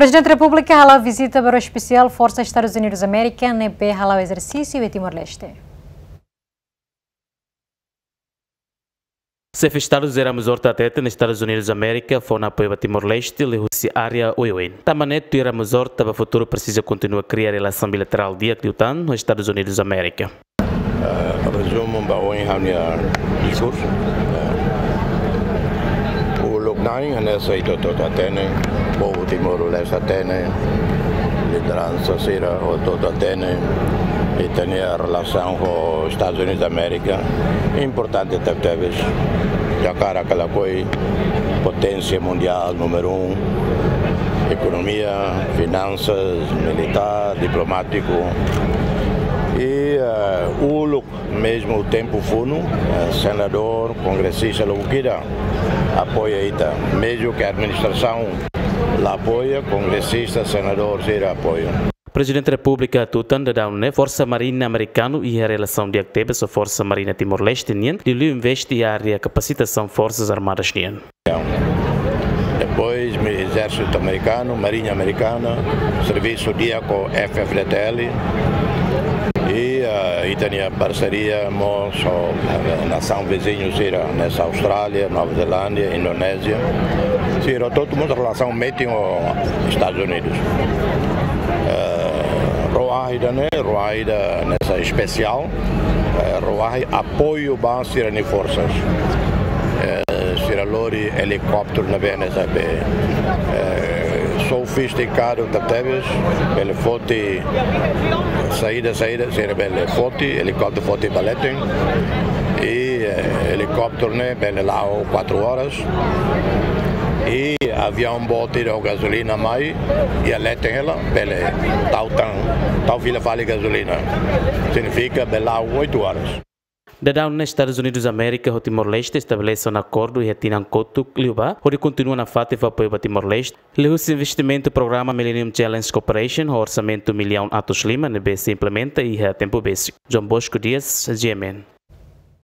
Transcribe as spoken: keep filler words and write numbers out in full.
Prezidente Repúblika hala'o vizita baru espesiál Forsa Estadus Unidus Amérika ne'ebé hala'o ezersísiu iha Timor-Leste. Xefe Estadu José Ramos Horta hateten Estadus Unidus Amérika fó ona apoiu ba Timor-Leste liuhusi área oioin. Tanba ne'e tuir Ramos Horta ba futuru presiza kontinua kria relasaun bilaterál di'ak liután ho Estadus Unidus Amérika. Eh, rezumu ba ohin ha'u-nia diskursu. Eh, uluk nanain hanesan ita hotu hatene, povu Timor-Leste hatene, lideransa sira hotu hatene, ita-nia relasaun ho Estadus Unidus Amérika importante tebetebes. Djakarak ka lakohi, poténsia mundiál númeru um, ekonomia, finansas, militár, diplomátiku. I, eh, uluk mezmu tempu funu, eh, senadór, kongresista, logo kida apoia ita. Mezmu ke administrasaun la apoia, kongresista, senadór sira apoia. Prezidente Repúblika hatutan daudaun ne'e Forsa Marina Amerikanu iha relasaun di'ak tebes ho Forsa Marina Timor-Leste nian, liuliu investe iha área kapasitasaun Forsas Armadas nian. Depois, mi-, Ezérsitu Amerikanu, Marinha Amerikana, servisu di'ak ho F F D T L. I, eh, ita-nia parseria mós ho, eh, nasaun viziñu sira, hanesan Austrália, Nova Zelándia, Indonézia. Sira hotu mós relasaun metin ho Estadus Unidus. Eh, ró-ahi ida-ne'e, ró-ahi ida hanesan espesiál, eh, ró-ahi apoiu ba sira-nia forsas. Eh, sira lori helikópteru ne'ebé hanesan be, eh, sofistikadu tebetebes, bele foti saida, saida, sira bele foti, helikópteru foti ba leten. I, eh, helikópteru ne'e bele la'o kuatru oras. I aviaun boot ida ho gazolina mai, iha leten hela, bele tau tan, tau fila fali gazolina. Signifika bele la'o oitu oras. Daudaun ne'e Estadus Unidus Amérika ho Timor-Leste estabelese ona akordu iha tinan kotuk liubá, hodi kontinua nafatin fó apoiu ba Timor-Leste liuhusi investimentu programa Millennium Challenge Corporation ho orsamentu millaun atus lima ne'ebé sei implementa iha tempu besik. João Bosco Dias, G M N.